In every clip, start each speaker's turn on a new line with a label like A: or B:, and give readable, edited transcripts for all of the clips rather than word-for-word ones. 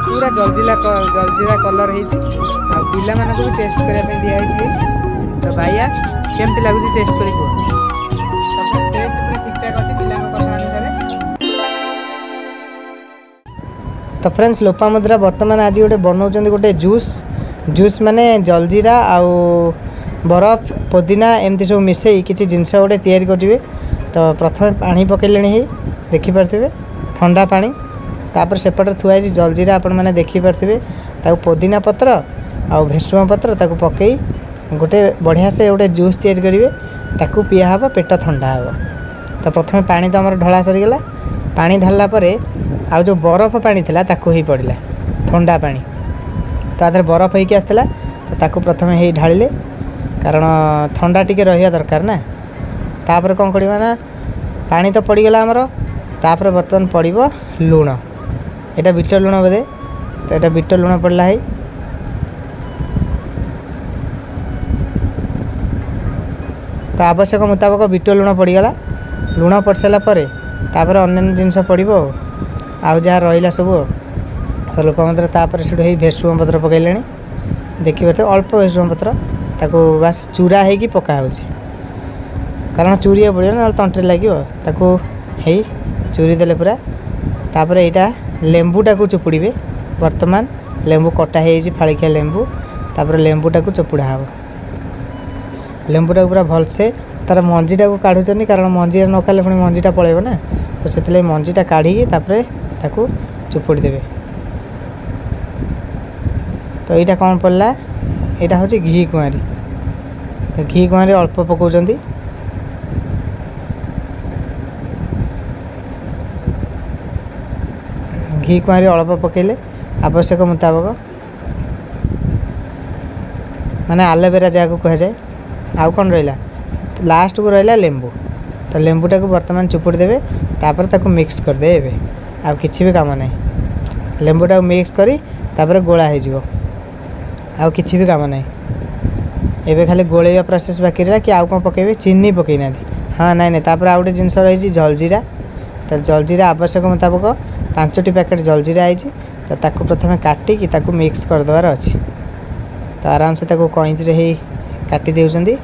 A: ପୁରା ଜଲଜିରା ଜଲଜିରା କଲର୍ ହେଇଛି, ଆଉ ପିଲାମାନଙ୍କୁ ବି ଟେଷ୍ଟ କରିବା ପାଇଁ ଦିଆହେଇଛି। ତ ଭାଇଆ, କେମିତି ଲାଗୁଛି ଟେଷ୍ଟ କରି କୁହ। ଟେଷ୍ଟ ପୁରା ଠିକ୍ଠାକ୍ ଅଛି ପିଲାଙ୍କ କଥା ଅନୁସାରେ। ତ ଫ୍ରେଣ୍ଡସ୍, ଲୋପାମୁଦ୍ରା ବର୍ତ୍ତମାନ ଆଜି ଗୋଟେ ବନାଉଛନ୍ତି ଗୋଟେ ଜୁସ୍। ଜୁସ୍ ମାନେ ଜଲଜିରା ଆଉ ବରଫ, ପୋଦିନା ଏମିତି ସବୁ ମିଶାଇ କିଛି ଜିନିଷ ଗୋଟେ ତିଆରି କରିବେ। ତ ପ୍ରଥମେ ପାଣି ପକାଇଲେଣି, ହେଇ ଦେଖିପାରୁଥିବେ ଥଣ୍ଡା ପାଣି। ତାପରେ ସେପଟରେ ଥୁଆ ହେଇଛି ଜଲଜିରା, ଆପଣମାନେ ଦେଖିପାରୁଥିବେ। ତାକୁ ପୋଦିନା ପତ୍ର ଆଉ ଭେସୁଙ୍ଗା ପତ୍ର ତାକୁ ପକାଇ ଗୋଟେ ବଢ଼ିଆ ସେ ଗୋଟେ ଜୁସ୍ ତିଆରି କରିବେ। ତାକୁ ପିଆ ହେବ, ପେଟ ଥଣ୍ଡା ହେବ। ତ ପ୍ରଥମେ ପାଣି ତ ଆମର ଢଳା ସରିଗଲା। ପାଣି ଢାଳିଲା ପରେ ଆଉ ଯେଉଁ ବରଫ ପାଣି ଥିଲା ତାକୁ ହେଇ ପଡ଼ିଲା ଥଣ୍ଡା ପାଣି। ତା ଦେହରେ ବରଫ ହେଇକି ଆସିଥିଲା, ତ ତାକୁ ପ୍ରଥମେ ହେଇ ଢାଳିଲେ, କାରଣ ଥଣ୍ଡା ଟିକେ ରହିବା ଦରକାର ନା। ତାପରେ କ'ଣ କରିବା ନା, ପାଣି ତ ପଡ଼ିଗଲା ଆମର, ତାପରେ ବର୍ତ୍ତମାନ ପଡ଼ିବ ଲୁଣ। ଏଇଟା ବିଟ ଲୁଣ ବୋଧେ। ତ ଏଇଟା ବିଟ ଲୁଣ ପଡ଼ିଲା ହେଇ। ତ ଆବଶ୍ୟକ ମୁତାବକ ବିଟ ଲୁଣ ପଡ଼ିଗଲା। ଲୁଣ ପଡ଼ିସାରିଲା ପରେ ତାପରେ ଅନ୍ୟାନ୍ୟ ଜିନିଷ ପଡ଼ିବ ଆଉ ଯାହା ରହିଲା ସବୁ। ଆଉ ତ ଲୋକମାନେ ତାପରେ ସେଠୁ ହେଇ ଭେସୁଙ୍ଗା ପତ୍ର ପକାଇଲେଣି, ଦେଖିପାରୁଥିବେ, ଅଳ୍ପ ଭେସୁଙ୍ଗା ପତ୍ର। ତାକୁ ବାସ୍ ଚୁରା ହେଇକି ପକା ହେଉଛି, କାରଣ ଚୁରିବାକୁ ପଡ଼ିବ, ନହେଲେ ତଣ୍ଟିରେ ଲାଗିବ। ତାକୁ ହେଇ ଚୁରି ଦେଲେ ପୁରା। ତାପରେ ଏଇଟା ଲେମ୍ବୁଟାକୁ ଚୁପୁଡ଼ିବେ। ବର୍ତ୍ତମାନ ଲେମ୍ବୁ କଟା ହେଇଯାଇଛି, ଫାଳିକିଆ ଲେମ୍ବୁ। ତାପରେ ଲେମ୍ବୁଟାକୁ ଚୁପୁଡ଼ା ହେବ। ଲେମ୍ବୁଟାକୁ ପୁରା ଭଲସେ ତା'ର ମଞ୍ଜିଟାକୁ କାଢ଼ୁଛନ୍ତି, କାରଣ ମଞ୍ଜିଟା ନ କାଢ଼ିଲେ ପୁଣି ମଞ୍ଜିଟା ପଳେଇବ ନା। ତ ସେଥିଲାଗି ମଞ୍ଜିଟା କାଢ଼ିକି ତାପରେ ତାକୁ ଚୁପୁଡ଼ି ଦେବେ। ତ ଏଇଟା କ'ଣ ପଡ଼ିଲା? ଏଇଟା ହେଉଛି ଘି କୁଆଁରୀ। ତ ଘି କୁଆଁରୀ ଅଳ୍ପ ପକାଉଛନ୍ତି। ଘି କୁଆଁରୀ ଅଳ୍ପ ପକାଇଲେ ଆବଶ୍ୟକ ମୁତାବକ, ମାନେ ଆଲୋଭେରା ଯାହାକୁ କୁହାଯାଏ। ଆଉ କ'ଣ ରହିଲା? ଲାଷ୍ଟକୁ ରହିଲା ଲେମ୍ବୁ। ତ ଲେମ୍ବୁଟାକୁ ବର୍ତ୍ତମାନ ଚୁପୁଡ଼ି ଦେବେ, ତାପରେ ତାକୁ ମିକ୍ସ କରିଦେବେ। ଏବେ ଆଉ କିଛି ବି କାମ ନାହିଁ। ଲେମ୍ବୁଟାକୁ ମିକ୍ସ କରି ତାପରେ ଗୋଳା ହେଇଯିବ, ଆଉ କିଛି ବି କାମ ନାହିଁ। ଏବେ ଖାଲି ଗୋଳେଇବା ପ୍ରୋସେସ୍ ବାକି ରହିଲା କି ଆଉ କ'ଣ ପକାଇବେ? ଚିନି ପକାଇ ନାହାନ୍ତି। ହଁ, ନାଇଁ ନାଇଁ, ତାପରେ ଆଉ ଗୋଟେ ଜିନିଷ ରହିଛି ଜଲଜିରା। ତ ଜଲଜିରା ଆବଶ୍ୟକ ମୁତାବକ 5ଟି ପ୍ୟାକେଟ୍ ଜଲଜିରା ହେଇଛି। ତ ତାକୁ ପ୍ରଥମେ କାଟିକି ତାକୁ ମିକ୍ସ କରିଦେବାର ଅଛି। ତ ଆରାମସେ ତାକୁ କଇଁଚିରେ ହେଇ କାଟି ଦେଉଛନ୍ତି।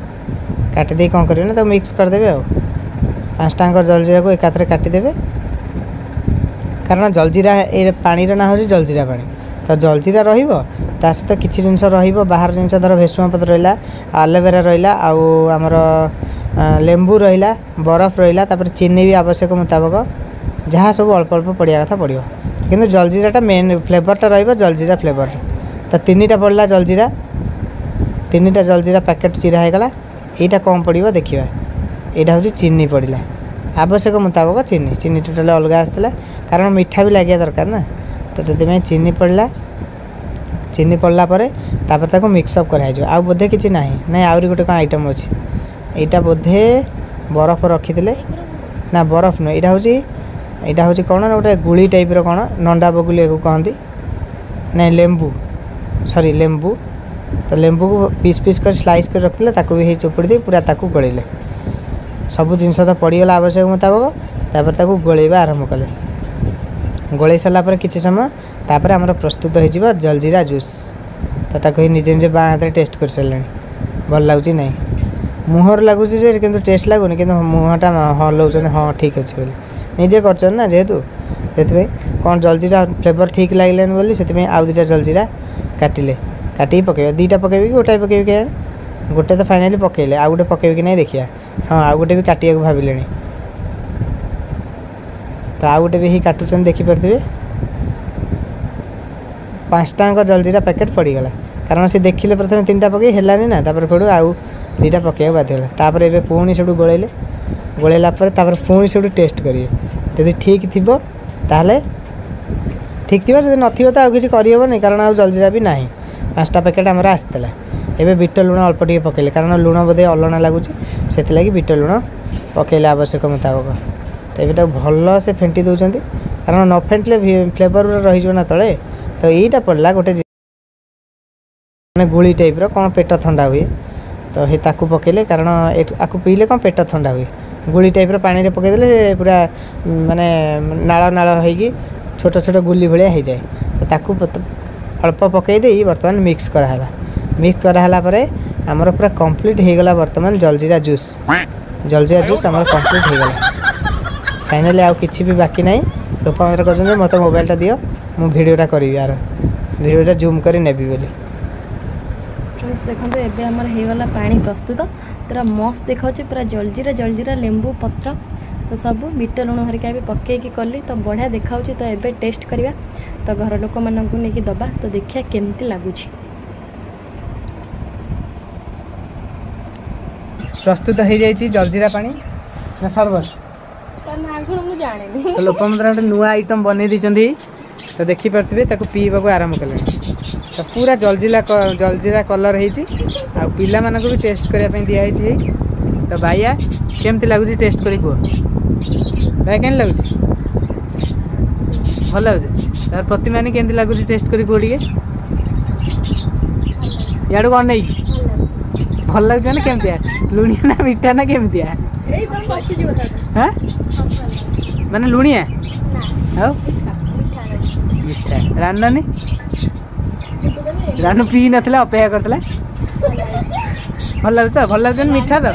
A: କାଟି ଦେଇ କ'ଣ କରିବେ ନା, ତାକୁ ମିକ୍ସ କରିଦେବେ। ଆଉ 5ଟାଙ୍କ ଜଲଜିରାକୁ ଏକାଥରେ କାଟିଦେବେ, କାରଣ ଜଲଜିରା ଏ ପାଣିର ନାଁ ହେଉଛି ଜଲଜିରା ପାଣି। ତ ଜଲଜିରା ରହିବ, ତା ସହିତ କିଛି ଜିନିଷ ରହିବ ବାହାର ଜିନିଷ, ଧର ଭେସୁଙ୍ଗା ପତ୍ର ରହିଲା, ଆଲୋଭେରା ରହିଲା, ଆଉ ଆମର ଲେମ୍ବୁ ରହିଲା, ବରଫ ରହିଲା, ତାପରେ ଚିନି ବି ଆବଶ୍ୟକ ମୁତାବକ ଯାହା ସବୁ ଅଳ୍ପ ଅଳ୍ପ ପଡ଼ିବା କଥା ପଡ଼ିବ। କିନ୍ତୁ ଜଲଜିରାଟା ମେନ୍ ଫ୍ଲେଭରଟା ରହିବ, ଜଲଜିରା ଫ୍ଲେଭରଟା। ତ 3ଟା ପଡ଼ିଲା ଜଲଜିରା, 3ଟା ଜଲଜିରା ପ୍ୟାକେଟ୍ ଚିରା ହେଇଗଲା। ଏଇଟା କ'ଣ ପଡ଼ିବ ଦେଖିବା। ଏଇଟା ହେଉଛି ଚିନି ପଡ଼ିଲା ଆବଶ୍ୟକ ମୁତାବକ ଚିନି। ଚିନି ଟୋଟାଲି ଅଲଗା ଆସିଥିଲା, କାରଣ ମିଠା ବି ଲାଗିବା ଦରକାର ନା, ତ ସେଥିପାଇଁ ଚିନି ପଡ଼ିଲା। ଚିନି ପଡ଼ିଲା ପରେ ତାପରେ ତାକୁ ମିକ୍ସଅପ୍ କରାହେଇଯିବ। ଆଉ ବୋଧେ କିଛି ନାହିଁ? ନାଇଁ, ଆହୁରି ଗୋଟେ କ'ଣ ଆଇଟମ୍ ଅଛି। ଏଇଟା ବୋଧେ ବରଫ ରଖିଥିଲେ ନା, ବରଫ ନୁହେଁ, ଏଇଟା ହେଉଛି କ'ଣ ନା ଗୋଟେ ଗୁଳି ଟାଇପ୍ର କ'ଣ, ନଣ୍ଡା ବଗୁଲି ଏକୁ କହନ୍ତି। ନାଇଁ, ଲେମ୍ବୁ, ସରି, ଲେମ୍ବୁ। ତ ଲେମ୍ବୁକୁ ପିସ୍ ପିସ୍ କରି ସ୍ଲାଇସ୍ କରି ରଖିଥିଲେ, ତାକୁ ବି ହେଇ ଚୁପୁଡ଼ି ଦେଇ ପୁରା ତାକୁ ଗୋଳେଇଲେ। ସବୁ ଜିନିଷ ତ ପଡ଼ିଗଲା ଆବଶ୍ୟକ ମୁତାବକ। ତାପରେ ତାକୁ ଗୋଳେଇବା ଆରମ୍ଭ କଲେ। ଗୋଳେଇ ସାରିଲା ପରେ କିଛି ସମୟ ତାପରେ ଆମର ପ୍ରସ୍ତୁତ ହେଇଯିବ ଜଲଜିରା ଜୁସ୍। ତ ତାକୁ ହିଁ ନିଜେ ନିଜେ ବାଁ ହାତରେ ଟେଷ୍ଟ କରିସାରିଲେଣି, ଭଲ ଲାଗୁଛି ନାହିଁ। ମୁହଁରେ ଲାଗୁଛି ଯେ କିନ୍ତୁ ଟେଷ୍ଟ ଲାଗୁନି, କିନ୍ତୁ ମୁହଁଟା ହଲଉଛନ୍ତି, ହଁ ଠିକ୍ ଅଛି ବୋଲି। ନିଜେ କରିଛନ୍ତି ନା ଯେହେତୁ, ସେଥିପାଇଁ କ'ଣ ଜଲଜିରା ଫ୍ଲେଭର୍ ଠିକ୍ ଲାଗିଲାନି ବୋଲି ସେଥିପାଇଁ ଆଉ 2ଟା ଜଲଜିରା କାଟିଲେ। କାଟିକି ପକାଇବେ, 2ଟା ପକାଇବେ କି ଗୋଟାଏ ପକାଇବେ କେଜାଣି। ଗୋଟେ ତ ଫାଇନାଲି ପକାଇଲେ, ଆଉ ଗୋଟେ ପକାଇବେ କି ନାହିଁ ଦେଖିବା। ହଁ, ଆଉ ଗୋଟେ ବି କାଟିବାକୁ ଭାବିଲେଣି। ତ ଆଉ ଗୋଟେ ବି ହେଇ କାଟୁଛନ୍ତି, ଦେଖିପାରୁଥିବେ। 5ଟାଙ୍କ ଜଲଜିରା ପ୍ୟାକେଟ୍ ପଡ଼ିଗଲା, କାରଣ ସେ ଦେଖିଲେ ପ୍ରଥମେ 3ଟା ପକାଇ ହେଲାନି ନା, ତାପରେ ସେଠୁ ଆଉ 2ଟା ପକାଇବାକୁ ବାଧ୍ୟ ହେଲା। ତାପରେ ଏବେ ପୁଣି ସେଠୁ ଗୋଳେଇଲେ। ଗୋଳେଇଲା ପରେ ତାପରେ ପୁଣି ସେଠୁ ଟେଷ୍ଟ କରିବେ। ଯଦି ଠିକ୍ ଥିବ ତାହେଲେ ଠିକ୍ ଥିବ, ଯଦି ନଥିବ ତ ଆଉ କିଛି କରିହେବନି, କାରଣ ଆଉ ଜଲଜିରା ବି ନାହିଁ। 5ଟା ପ୍ୟାକେଟ୍ ଆମର ଆସିଥିଲା। ଏବେ ବିଟ ଲୁଣ ଅଳ୍ପ ଟିକେ ପକାଇଲେ, କାରଣ ଲୁଣ ବୋଧେ ଅଲଣା ଲାଗୁଛି, ସେଥିଲାଗି ବିଟ ଲୁଣ ପକାଇଲେ ଆବଶ୍ୟକ ମୁତାବକ। ତ ଏବେ ତାକୁ ଭଲସେ ଫେଣ୍ଟି ଦେଉଛନ୍ତି, କାରଣ ନ ଫେଣ୍ଟିଲେ ଫ୍ଲେଭର୍ ଗୁଡ଼ା ରହିଯିବ ନା ତଳେ। ତ ଏଇଟା ପଡ଼ିଲା ଗୋଟେ ମାନେ ଗୁଳି ଟାଇପ୍ର କ'ଣ, ପେଟ ଥଣ୍ଡା ହୁଏ। ତ ହେ ତାକୁ ପକାଇଲେ, କାରଣ ଆକୁ ପିଇଲେ କ'ଣ ପେଟ ଥଣ୍ଡା ହୁଏ। ଗୁଳି ଟାଇପ୍ର ପାଣିରେ ପକାଇଦେଲେ ପୁରା ମାନେ ନାଳ ନାଳ ହେଇକି ଛୋଟ ଛୋଟ ଗୁଲି ଭଳିଆ ହେଇଯାଏ। ତ ତାକୁ ଅଳ୍ପ ପକାଇ ଦେଇ ବର୍ତ୍ତମାନ ମିକ୍ସ କରାହେଲା। ମିକ୍ସ କରାହେଲା ପରେ ଆମର ପୁରା କମ୍ପ୍ଲିଟ୍ ହେଇଗଲା ବର୍ତ୍ତମାନ ଜଲଜିରା ଜୁସ୍। ଜଲଜିରା ଜୁସ୍ ଆମର କମ୍ପ୍ଲିଟ୍ ହେଇଗଲା ଫାଇନାଲି, ଆଉ କିଛି ବି ବାକି ନାହିଁ। ଲୋକମାନେ କହୁଛନ୍ତି ମୋତେ ମୋବାଇଲଟା ଦିଅ, ମୁଁ ଭିଡ଼ିଓଟା କରିବି, ଆର ଭିଡ଼ିଓଟା ଜୁମ୍ କରି ନେବି ବୋଲି।
B: ଫ୍ରେଣ୍ଡସ୍ ଦେଖନ୍ତୁ, ଏବେ ଆମର ହେଇଗଲା ପାଣି ପ୍ରସ୍ତୁତ। ପୁରା ମସ୍ତ ଦେଖାଉଛି, ପୁରା ଜଲଜିରା ଜଲଜିରା ଲେମ୍ବୁ ପତ୍ର ତ ସବୁ ବିଟ ଲୁଣ ହରିକା ବି ପକେଇକି କଲି, ତ ବଢ଼ିଆ ଦେଖାଉଛି। ତ ଏବେ ଟେଷ୍ଟ କରିବା, ତ ଘର ଲୋକମାନଙ୍କୁ ନେଇକି ଦେବା, ତ ଦେଖିବା କେମିତି ଲାଗୁଛି।
A: ପ୍ରସ୍ତୁତ ହେଇଯାଇଛି ଜଲଜିରା ପାଣି ନା ସରବତ,
B: ମୁଁ ଜାଣିନି।
A: ତ ଲୋକମୁଦ୍ରା ଗୋଟେ ନୂଆ ଆଇଟମ୍ ବନେଇ ଦେଇଛନ୍ତି, ତ ଦେଖିପାରୁଥିବେ ତାକୁ ପିଇବାକୁ ଆରମ୍ଭ କଲେଣି। ତ ପୁରା ଜଲଜିରା ଜଲଜିରା କଲର୍ ହେଇଛି, ଆଉ ପିଲାମାନଙ୍କୁ ବି ଟେଷ୍ଟ କରିବା ପାଇଁ ଦିଆହେଇଛି। ତ ବାଇଆ, କେମିତି ଲାଗୁଛି ଟେଷ୍ଟ କରି କୁହ। ଭାଇ, କେମିତି ଲାଗୁଛି? ଭଲ ଲାଗୁଛି। ତାର ପ୍ରତିମାନି, କେମିତି ଲାଗୁଛି ଟେଷ୍ଟ କରି କୁହ ଟିକେ। ଇଆଡ଼ୁ କ'ଣ ନେଇକି ଭଲ ଲାଗୁଛି? ମାନେ କେମିତିଆ, ଲୁଣିଆ ନା ମିଠା ନା କେମିତିଆ? ହଁ, ମାନେ ଲୁଣିଆ ଆଉ ମିଠା। ରାନୁନାନୀ, ରାନୁ ପିଇ ନଥିଲା, ଅପେକ୍ଷା କରିଥିଲା। ଭଲ ଲାଗୁଛି ତ? ଭଲ ଲାଗୁଛି, ମିଠା ତ।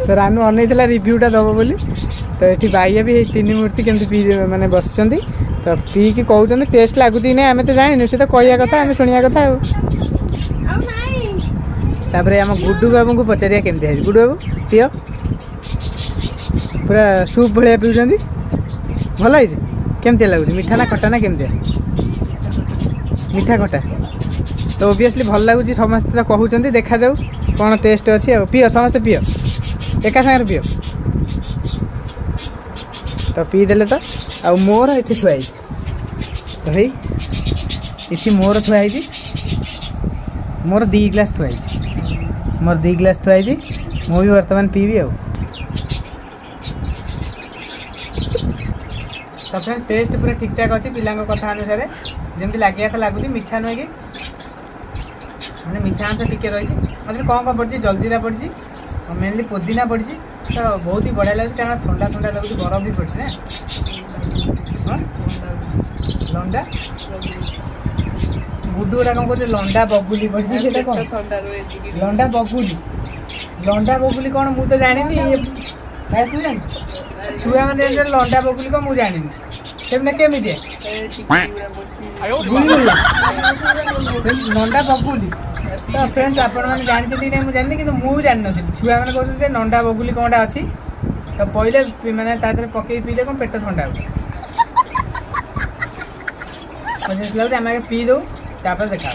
A: ତ ରାନୁ ଅନେଇଥିଲା ରିଭ୍ୟୁଟା ଦବ ବୋଲି। ତ ଏଠି ବାଇଆ ବି ଏଇ ତିନି ମୂର୍ତ୍ତି କେମିତି ପିଇ ମାନେ ବସିଛନ୍ତି, ତ ପିଇକି କହୁଛନ୍ତି ଟେଷ୍ଟ ଲାଗୁଛି କି ନାହିଁ। ଆମେ ତ ଜାଣିନୁ, ସେ ତ କହିବା କଥା, ଆମେ ଶୁଣିବା କଥା। ଆଉ ତାପରେ ଆମ ଗୁଡୁ ବାବୁଙ୍କୁ ପଚାରିବା କେମିତି ହେଇଛି। ଗୁଡୁ ବାବୁ, ପିଅ। ପୁରା ସୁପ୍ ଭଳିଆ ପିଉଛନ୍ତି। ଭଲ ହେଇଛି? କେମିତି ଲାଗୁଛି, ମିଠା ନା ଖଟା ନା କେମିତିଆ? ମିଠା ଖଟା ତ ଓବିୟସଲି ଭଲ ଲାଗୁଛି, ସମସ୍ତେ ତ କହୁଛନ୍ତି। ଦେଖାଯାଉ କ'ଣ ଟେଷ୍ଟ ଅଛି। ଆଉ ପିଅ, ସମସ୍ତେ ପିଅ, ଏକା ସାଙ୍ଗରେ ପିଅ। ତ ପିଇଦେଲେ ତ। ଆଉ ମୋର ଏଠି ଥୁଆ ହେଇଛି ତ, ହେଇ ଏଠି ମୋର ଥୁଆ ହେଇଛି। ମୋର 2 ଗ୍ଲାସ୍ ଥୁଆ ହେଇଛି, ମୋର 2 ଗ୍ଲାସ୍ ଥୁଆ ହେଇଛି। ମୁଁ ବି ବର୍ତ୍ତମାନ ପିଇବି। ଆଉ ତ ଫ୍ରେଣ୍ଡ, ଟେଷ୍ଟ ପୁରା ଠିକ୍ଠାକ୍ ଅଛି। ପିଲାଙ୍କ କଥା ଅନୁସାରେ ଯେମିତି ଲାଗିବା କଥା ଲାଗୁଛି। ମିଠା ନୁହେଁ କି ମାନେ ମିଠା ଅଂଶ ଟିକେ ରହିଛି। ମଝିରେ କ'ଣ କ'ଣ ପଡ଼ିଛି? ଜଲଜିରା ପଡ଼ିଛି, ମେନଲି ପୋଦିନା ପଡ଼ିଛି। ତ ବହୁତ ହି ବଢ଼ିଆ ଲାଗୁଛି, କାରଣ ଥଣ୍ଡା ଥଣ୍ଡା ଲାଗୁଛି। ବରଫ ବି ପଡ଼ିଛି ନା। ହଁ, ଲଣ୍ଡା ଗୁଡୁ ଗୁଡ଼ା କ'ଣ କହୁଛି? ଲଣ୍ଡା ବଗୁଲି ପଡ଼ିଛି, ସେଇଟା କ'ଣ ଲଣ୍ଡା ବଗୁଲି? ଲଣ୍ଡା ବଗୁଲି କ'ଣ ମୁଁ ତ ଜାଣିନି। ଭାଇ, ତୁ ଜାଣିଛୁ? ଛୁଆମାନେ ଜାଣିଛନ୍ତି ଲଣ୍ଡା ବଗୁଲି କ'ଣ, ମୁଁ ଜାଣିନି। ସେମିତି କେମିତିଆ ନଣ୍ଡା ବଗୁଲି? ତ ଫ୍ରେଣ୍ଡସ୍, ଆପଣମାନେ ଜାଣିଛନ୍ତି କି ନାହିଁ ମୁଁ ଜାଣିନି, କିନ୍ତୁ ମୁଁ ଜାଣିନଥିଲି। ଛୁଆମାନେ କହୁଛନ୍ତି ଯେ ନଣ୍ଡା ବଗୁଲି କ'ଣଟା ଅଛି, ତ ପଇଲେ ମାନେ ତା ଦେହରେ ପକେଇ ପିଇଲେ କ'ଣ ପେଟ ଥଣ୍ଡା ହେଉଛି ଲାଗୁଛି। ଆମେ ଆଗେ ପିଇ ଦେଉ, ତାପରେ ଦେଖା।